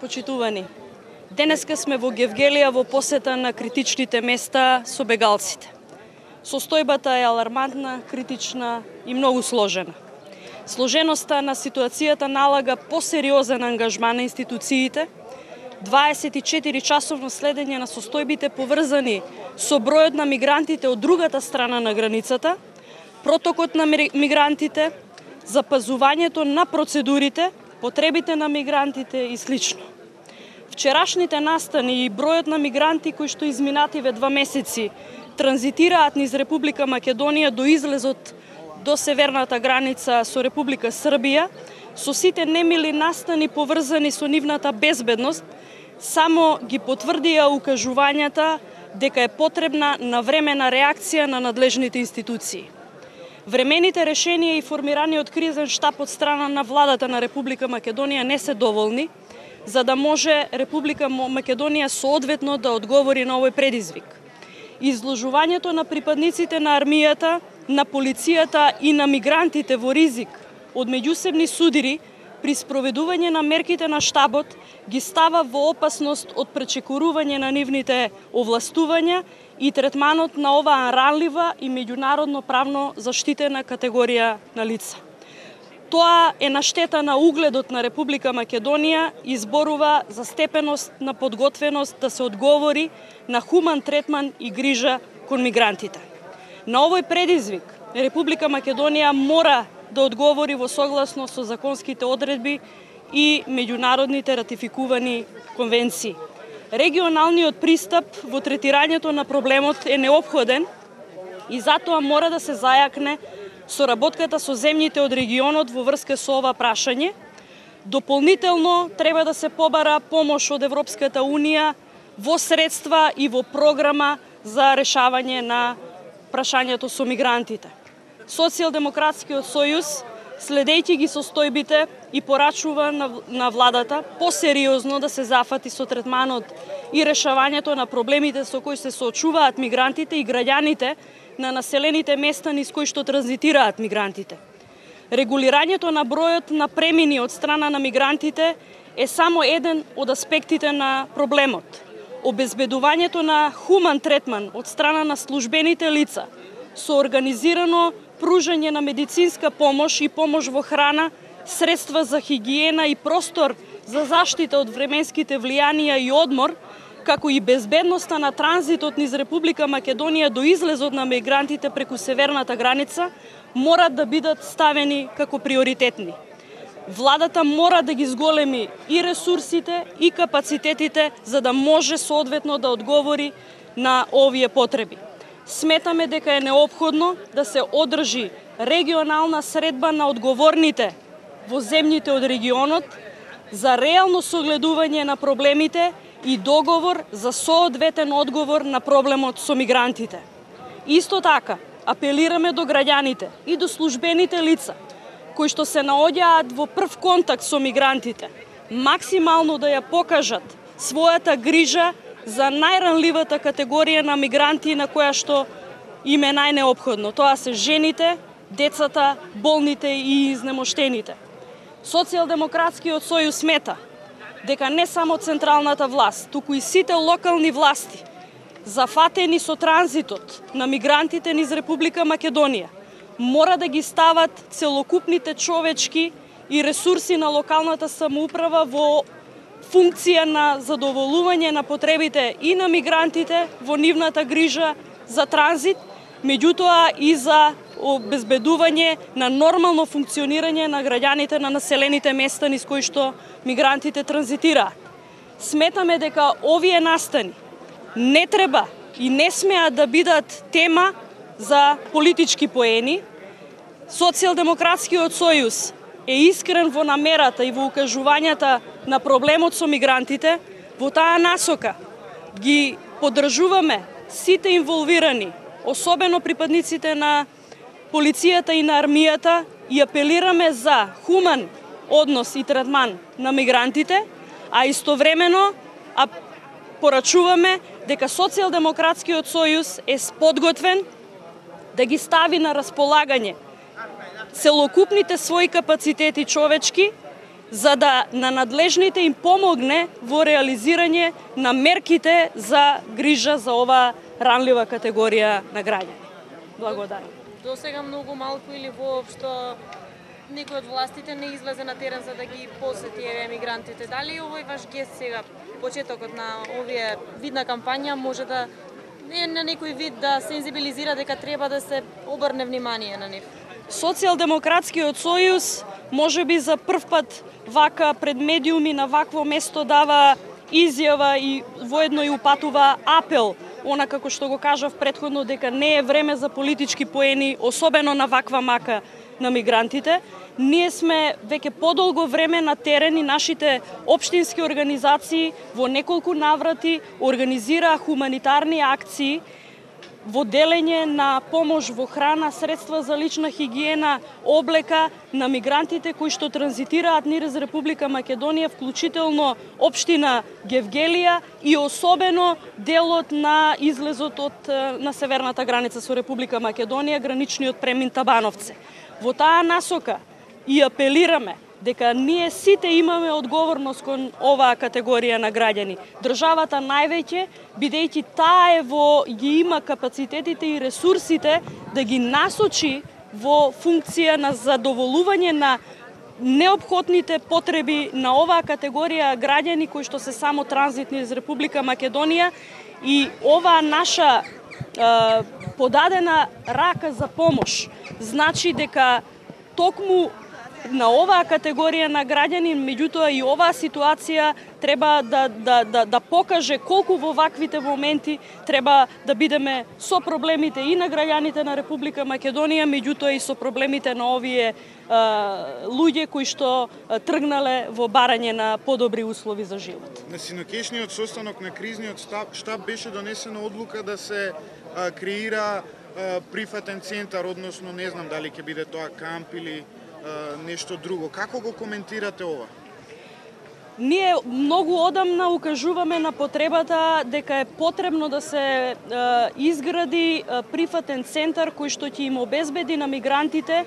Почитувани, денеска сме во Гевгелија во посета на критичните места со бегалците. Состојбата е алармантна, критична и многу сложена. Сложеноста на ситуацијата налага посериозен ангажман на институциите, 24 часовно следење на состојбите поврзани со бројот на мигрантите од другата страна на границата, протокот на мигрантите, запазувањето на процедурите, потребите на мигрантите и слично. Вчерашните настани и бројот на мигранти кои што изминативе 2 месеци транзитираат низ Република Македонија до излезот до северната граница со Република Србија, со сите немили настани поврзани со нивната безбедност, само ги потврдија укажувањата дека е потребна навремена реакција на надлежните институции. Времените решенија и формираниот кризен штаб од страна на владата на Република Македонија не се доволни, за да може Република Македонија соодветно да одговори на овој предизвик. Изложувањето на припадниците на армијата, на полицијата и на мигрантите во ризик од меѓусебни судири при спроведување на мерките на штабот ги става во опасност од пречекорување на нивните овластувања и третманот на оваа ранлива и меѓународно правно заштитена категорија на лица. Тоа е на штета на угледот на Република Македонија и зборува за степеност на подготвеност да се одговори на хуман третман и грижа кон мигрантите. На овој предизвик Република Македонија мора да одговори во согласно со законските одредби и меѓународните ратификувани конвенции. Регионалниот пристап во третирањето на проблемот е неопходен и затоа мора да се зајакне соработката со земјите од регионот во врска со ова прашање. Дополнително треба да се побара помош од Европската Унија во средства и во програма за решавање на прашањето со мигрантите. Социјалдемократскиот сојуз, следејќи ги состојбите, и порачува на владата посериозно да се зафати со третманот и решавањето на проблемите со кои се соочуваат мигрантите и граѓаните на населените места низ кои што транзитираат мигрантите. Регулирањето на бројот на премини од страна на мигрантите е само еден од аспектите на проблемот. Обезбедувањето на хуман третман од страна на службените лица со организирано пружање на медицинска помош и помош во храна, средства за хигиена и простор за заштита од временските влијанија и одмор, како и безбедноста на транзитот низ Република Македонија до излезот на мигрантите преку северната граница, морат да бидат ставени како приоритетни. Владата мора да ги зголеми и ресурсите и капацитетите за да може соодветно да одговори на овие потреби. Сметаме дека е неопходно да се одржи регионална средба на одговорните во земјите од регионот за реално согледување на проблемите и договор за соодветен одговор на проблемот со мигрантите. Исто така, апелираме до граѓаните и до службените лица кои што се наоѓаат во прв контакт со мигрантите, максимално да ја покажат својата грижа за најранливата категорија на мигранти на која што им е најнеопходно. Тоа се жените, децата, болните и изнемоштените. Социјалдемократскиот сојуз смета дека не само централната власт, туку и сите локални власти, зафатени со транзитот на мигрантите низ Република Македонија, мора да ги стават целокупните човечки и ресурси на локалната самоуправа во функција на задоволување на потребите и на мигрантите во нивната грижа за транзит, меѓутоа и за обезбедување на нормално функционирање на граѓаните на населените места низ кои што мигрантите транзитираат. Сметаме дека овие настани не треба и не смеат да бидат тема за политички поени. Социјалдемократскиот сојуз е искрен во намерата и во укажувањата на проблемот со мигрантите. Во таа насока ги поддржуваме сите инволвирани, особено припадниците на полицијата и на армијата, и апелираме за хуман однос и третман на мигрантите, а истовремено порачуваме дека Социјалдемократскиот сојуз е подготвен да ги стави на располагање целокупните своји капацитети човечки за да на надлежните им помогне во реализирање на мерките за грижа за оваа ранлива категорија на граѓани. Благодарам. До сега многу малку или воопшто некој од властите не излезе на терен за да ги посети емигрантите. Дали овој ваш гест сега, почетокот на овие видна кампања, може да е на некој вид да сензибилизира дека треба да се обрне внимание на нив? Социјалдемократскиот сојуз можеби за прв пат вака пред медиуми на вакво место дава изјава и воедно и упатува апел, она како што го кажав претходно дека не е време за политички поени, особено на ваква мака на мигрантите. Ние сме веќе подолго време на терен и нашите општински организации во неколку наврати организираа хуманитарни акции во делење на помош во храна, средства за лична хигиена, облека на мигрантите кои што транзитираат низ Република Македонија, вклучително општина Гевгелија и особено делот на излезот на северната граница со Република Македонија, граничниот премин Табановце. Во таа насока и апелираме дека ние сите имаме одговорност кон оваа категорија на граѓани. Државата највеќе, бидејќи таа ги има капацитетите и ресурсите да ги насочи во функција на задоволување на неопходните потреби на оваа категорија граѓани кои што се само транзитни из Република Македонија, и оваа наша подадена рака за помош значи дека токму на оваа категорија на граѓани, меѓутоа и оваа ситуација треба да покаже колку во ваквите моменти треба да бидеме со проблемите и на граѓаните на Република Македонија, меѓутоа и со проблемите на овие луѓе кои што тргнале во барање на подобри услови за живот. На синокешниот состанок на кризниот штаб беше донесена одлука да се креира прифатен центар, односно не знам дали ќе биде тоа камп или нешто друго. Како го коментирате ова? Ние многу одамна укажуваме на потребата дека е потребно да се изгради прифатен центар кој што ќе им обезбеди на мигрантите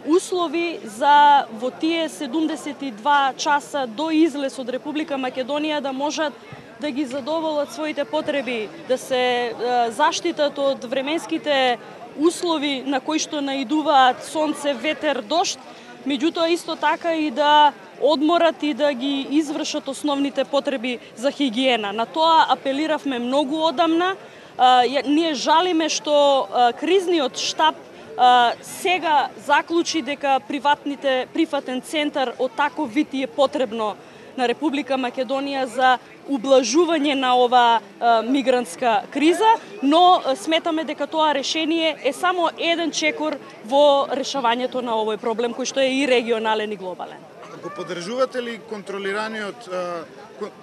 услови за во тие 72 часа до излез од Република Македонија да можат да ги задоволат своите потреби, да се заштитат од временските услови на кои што наидуваат сонце, ветер, дожд, меѓутоа исто така и да одморат и да ги извршат основните потреби за хигиена. На тоа апелиравме многу одамна. Ние жалиме што кризниот штаб сега заклучи дека прифатен центар од таков вид е потребно на Република Македонија за ублажување на оваа мигрантска криза, но сметаме дека тоа решение е само еден чекор во решавањето на овој проблем кој што е и регионален и глобален. Го поддржувате ли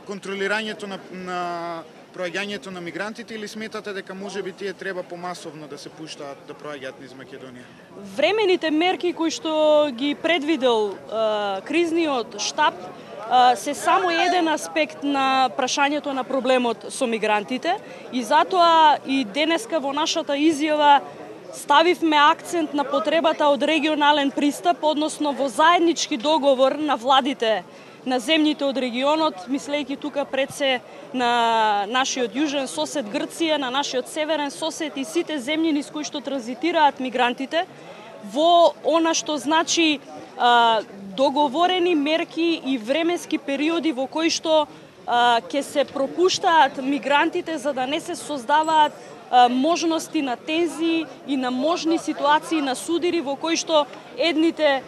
контролирањето на проаѓањето на мигрантите или сметате дека можеби тие треба помасовно да се пуштаат да проаѓаат низ Македонија? Времените мерки кои што ги предвидел кризниот штаб се само еден аспект на прашањето на проблемот со мигрантите и затоа и денеска во нашата изјава ставивме акцент на потребата од регионален пристап, односно во заеднички договор на владите на земјите од регионот, мислејќи тука пред се на нашиот јужен сосед Грција, на нашиот северен сосед и сите земји низ кои што транзитираат мигрантите, во она што значи договорени мерки и временски периоди во кои што ќе се пропуштаат мигрантите за да не се создаваат можности на тензии и на можни ситуации на судири во кои што едните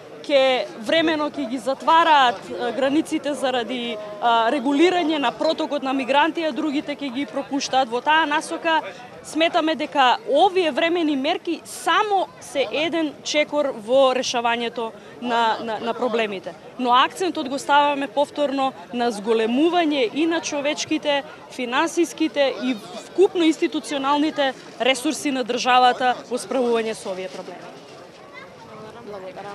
времено ќе ги затвараат границите заради регулирање на протокот на мигранти, а другите ќе ги пропуштаат. Во таа насока сметаме дека овие времени мерки само се еден чекор во решавањето на проблемите. Но акцентот го ставаме повторно на зголемување и на човечките, финансиските и вкупно институционалните ресурси на државата во справување со овие проблеми.